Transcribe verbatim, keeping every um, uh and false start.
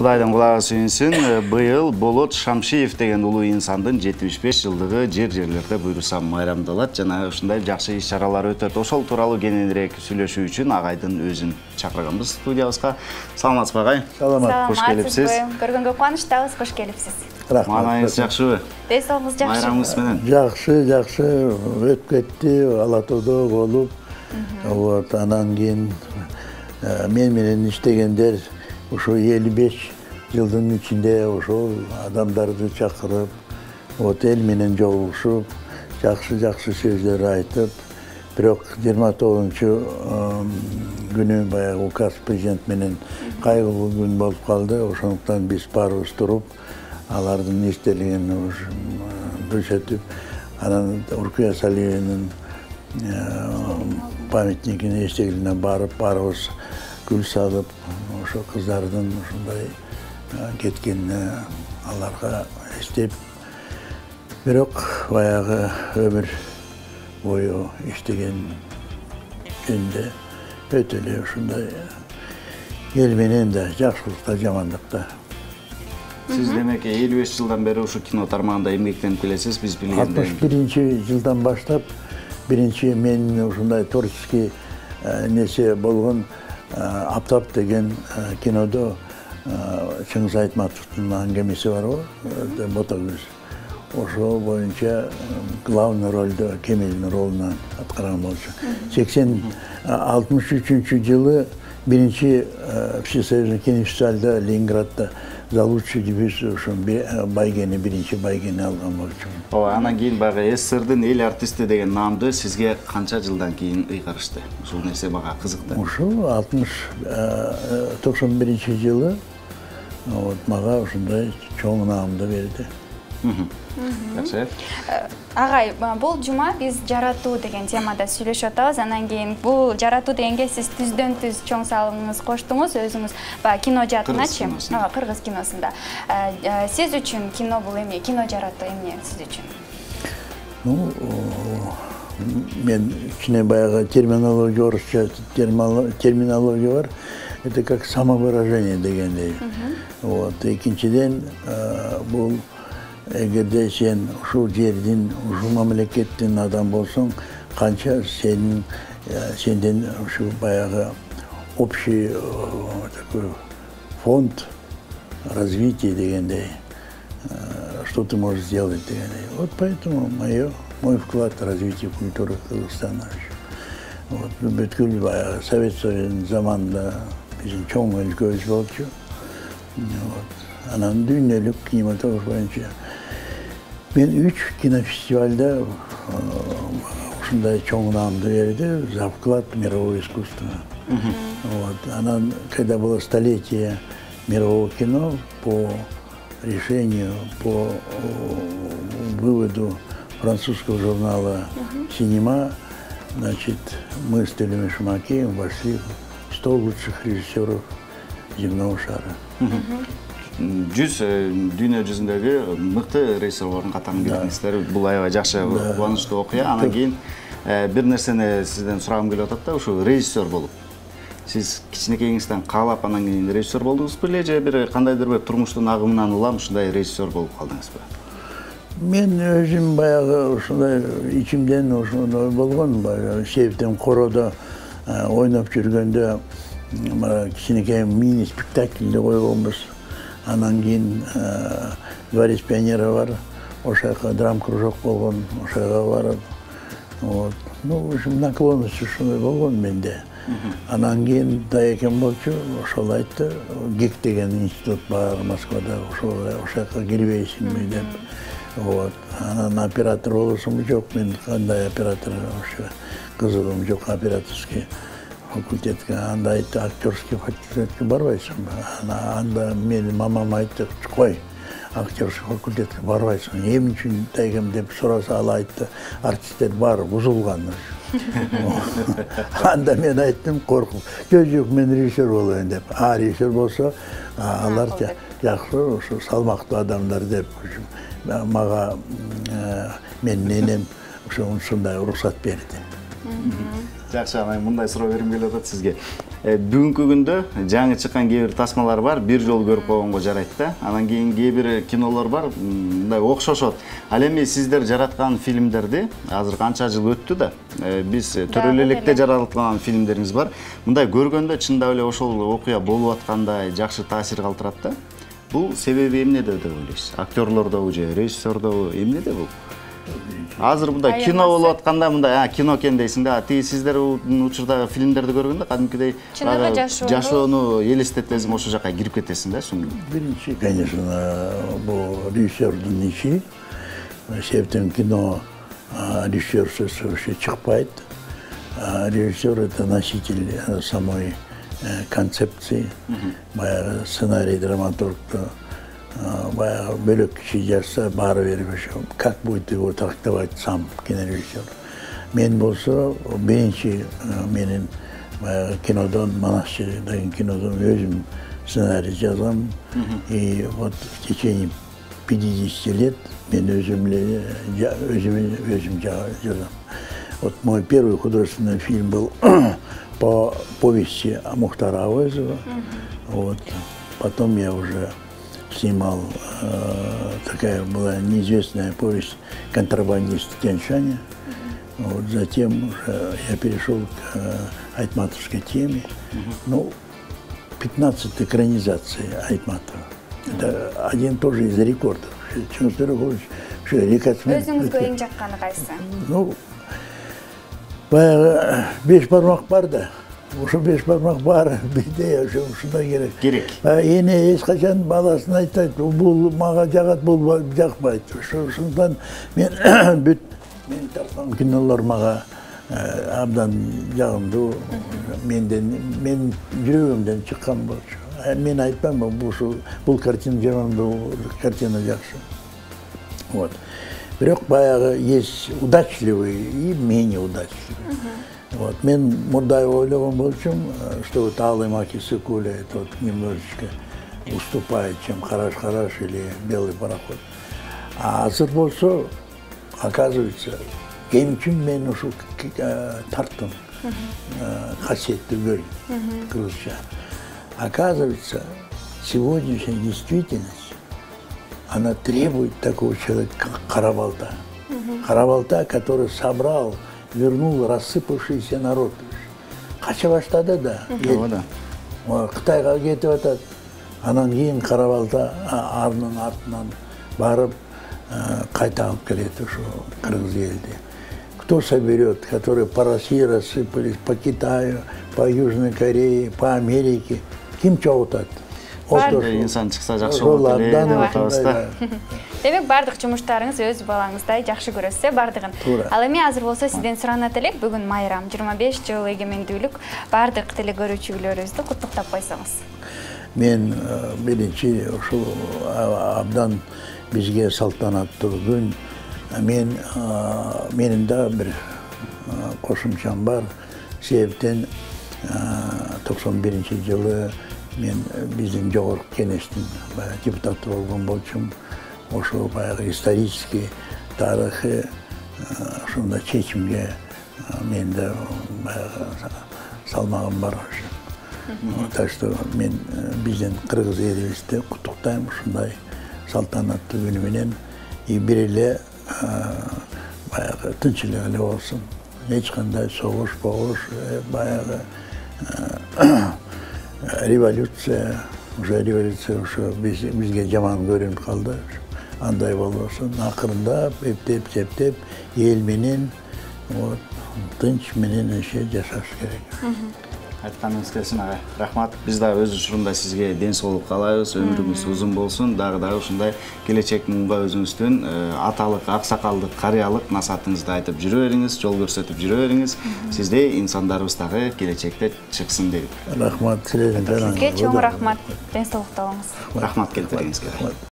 Кудайдын кулагы сүйүнсүн. Быйыл Болот Шамшиев деген улуу инсандын жетимиш беш жылдыгы жер-жерлерде буйрусам майрамдалат жана ушундай жакшы иш-чаралар өтөт. Ошол тууралуу кененирээк сүйлөшүү үчүн агайдын өзүн чакырганбыз студиябызга. Саламатсызбы агай? Саламат. Кош келипсиз. Көргөнгө кубанычтабыз, кош келипсиз. Рахмат. Маанайыңыз жакшыбы? Ден соолугуңуз жакшыбы? Майрамыңыз менен. Жакшы, жакшы. Өтүп кетти, Ала Тоодо болуп. Вот, анан кийин мен менен иштегендер ошо элүү беш жылдын ичинде ошол адамдарды чакырып, вот эл менен жолугушуп, жакшы-жакшы сөздөр айтып, бирок жыйырма тогузунчу күнү баягы указ президент менен кайгылуу күн болуп калды. Ошондуктан биз баарыбыз туруп, алардын эстелигин бөчөтүп, анан Уркуя Салиеванын памятникине эстелигине барып, баарыбыз гүл салып, ошо кыздардын ушундай кеткенине аларга эстеп, бирок баягы өмүр бою иштеген жөнүндө өтө эле ушундай эл менен да жакшылыкта, жамандыкта. Сиз демек элүү беш жылдан бери ушу кино тармагында эмгектенип келесиз, биз билгендей. алтымыш биринчи жылдан баштап биринчи мен ушундай творческий несе болгон Аптап деген кинодо Чыңгыз Айтматовдун аңгемеси бар го, Ботагөз. Ошол боюнча главный ролдо Кемелдин ролунан аткарган болчу. сексен алтымыш үчүнчү жылы биринчи всесоюзный кинофестивалда Ленинградда за лучший дебют ошо байгени, биринчи байгени алган болчу. Ооба, анан кийин баягы СССРдин эл артисти деген наамды сизге канча жылдан кийин ыйгарышты? Ушул нерсе мага кызыкты. Ушул алтымыш токсон биринчи жылы вот мага ушундай чоң наамды берди. Жакшы. Агай, бул жума биз жаратуу деген темада сүйлөшүп атабыз. Анан кийин бул жаратуу дегенге сиз түздөн түз чоң салымыңыз коштуңуз, өзүңүз баягы кино жаатыначы, ооба, кыргыз киносунда. Сиз үчүн кино бул эмне? Кино жаратуу эмне сиз үчүн? Ну, мен кичине баягы терминология, орусча терминология бар. Это как самовыражение дегендей. Вот, экинчиден бул эгерде сен ушул жердин, ушул мамлекеттин адам болсоң, канча сенин сенден ушу баягы общий такой фонд развития дегендей, что ты можешь сделать дегендей. Вот поэтому моё мой вклад в развитие культуры Кыргызстана. Вот бүткүл баягы Совет Союзунун заманында биздин чоң өлкөбүз болчу. Вот, анан дүйнөлүк кинематограф боюнча мен үч кинофестивальда ушундай чоң наамды берди за вклад в мировое искусство. Вот, анан когда было столетие мирового кино по решению, по выводу французского журнала «Синема», значит, мы с Телем Шумакеем вошли в сто лучших режиссеров земного шара. жүз дүйнө жүзүндөгү мыкты режиссерлордун катарына кирдиңиздер. Бул аябай жакшы, кубанычтуу окуя. Анан кийин бир нерсени сизден сурагым келип атат да, ушу режиссер болуп. Сиз кичинекейиңизден каалап анан кийин режиссер болдуңузбу беле же бир кандайдыр бир турмуштун агымынан улам ушундай режиссер болуп калдыңызбы? Мен өзүм баягы ушундай ичимден ошондой болгон, баягы Септен Коrodо ойноп жүргөндө кичинекей мини спектакльди койгонбуз. Анан кийин Дворец пионера бар, ошака драм-кружок болгон, ошага барып, вот, ну, в общем, наклонность ушундай болгон менде. Анан кийин Даекем болчу, ошол айтты, ГИК деген институт бар Москвада, ошол ошака кирбейсиңби деп. Вот, анан оператор болосуңбу? Жок, мен кандай оператор, ошо кызыгым жок операторский факультетке. Анда айтты, актерский факультетке барбайсыңбы? Анда менин мамам айтты, кой, актерский факультетке барбайсың. Эмне үчүн Даекем деп сураса, ал айтты, артисттер баары бузулган. Анда мен айттым, коркуп, жок жок, мен режиссер болоюн деп. А режиссер болсо, алар жакшы, ошо салмактуу адамдар деп. Мага менин энем ошо ушундай уруксат берди. Жакшы, анан мындай суроо бергим келип атат сизге. Бүгүнкү күндө жаңы чыккан кээ бир тасмалар бар, бир жолу көрүп койгонго жарайт да. Анан кийин кээ бир кинолор бар, мындай окшошот. Ал эми сиздер жараткан фильмдерди азыр канча жыл өттү да. Биз төрөлө электе жараткан фильмдериңиз бар. Мындай көргөндө чындап эле ошол окуя болуп аткандай жакшы таасир калтырат да. Бул себеби эмнеде деп ойлойсуз? Актерлордобу же режиссердобу, эмнеде бул? Азыр мындай кино болуп атканда мындай кино экен дейсиң да. Тиги сиздер учурдагы фильмдерди көргөндө кадимкидей жашоону элестетесиң, ошол жака кирип кетесиң да. Биринчи, конечно, бул режиссердин иши. Себептен кино режиссерсиз вообще чыкпайт. Режиссер — это носитель самой концепции, баягы сценарий, драматургду баягы бөлөк киши жазса баары бир как будет его трактовать сам кинорежиссер. Мен болсо биринчи менин баягы кинодон, Манасчы деген кинодон өзүм сценарий жазам. И вот в течение пятидесяти лет мен өзүм эле өзүм өзүм жазам. Вот мой первый художественный фильм был по повести Мухтара Авойзова. Вот. Потом я уже снимал, э, такая была неизвестная повесть «Контрабандист Тяньшаня». Вот. Затем уже я перешел к э, айтматовской теме. Ну, пятнадцать экранизаций Айтматова. Это один тоже из рекордов. Өзүңүзгө эң жакканы кайсы? Ну, баягы беш бармак бар да. Ошо беш бармак бар, бизде ушундай керек. Керек. Эне эч качан баласына айтат, бул мага жагат, бул жакпайт. Ошондон мен бүт мен тарткан кинолор мага абдан жагымдуу. Менден, мен жүрөгүмдөн чыккан болчу. Мен айтпаймын, бул бул картина жаман, бул картина жакшы. Вот. Бирок баягы есть удачливый и менее удачливый. Вот. Мен мындай ойлогон болчумун, что вот Алый Маки Сыкуля это вот немножечко уступает, чем Хараш-Хараш или Белый пароход. А азыр болсо, оказывается, кем үчүн мен ушул тарттым, касиеттүү бөл кыргызча. Оказывается, сегодняшняя действительность, она требует такого человека, как Карабалта. Карабалта, который собрал, вернул рассыпавшийся народ. Кача баштады да. Кытайга кетип атат. Анан кийин Карабалта анын артынан барып кайта алып келет ушу кыргыз элди. Кто соберет, которые по России рассыпались, по Китаю, по Южной Корее, по Америке? Ким чогултат? Инсан чыкса жакшы болот эле деп атабыз да. Демек бардык жумуштарыңыз өз балаңыздай жакшы көрөсүз, бардыгын. Ал эми азыр болсо сизден суранат элек, бүгүн майрам жыйырма беш жыл эгемендүүлүк, бардык теле көрүүчүлөрүбүздү куттуктап койсоңуз. Мен биринчи ушул абдан бизге салтанаттуу күн. Мен менин да бир кошумчам бар. Себептен токсон биринчи жылы мен биздин жогорку кеңештин депутаты болгон болчумун. Ошо баягы исторический тарыхый ошондой чечимге мен да баягы салмагым бар. Так что мен биздин кыргыз элибизди куттуктайм ушундай салтанаттуу күнү менен. И бир эле баягы тынчылык эле болсун. Эч кандай согуш, погуш, баягы революция, уже революция ушу бизге жаман көрүнүп калды. Андай болбосун, акырындап, эптеп, септеп, эл менен, вот, тынч менен иши жашаш керек. Айтканыңыз келсин агай. Рахмат. Биз да өз учурунда сизге ден соолук каалайбыз. Өмүрүңүз узун болсун. Дагы дагы ушундай келечек муңга өзүңүздүн аталык, аксакалдык, карыялык насаатыңызды айтып жүрө бериңиз, жол көрсөтүп жүрө бериңиз. Сиздей инсандарыбыз дагы келечекте чыксын дейт. Рахмат. Сизге чоң рахмат. Ден соолукта болуңуз. Рахмат келтиргениңизге.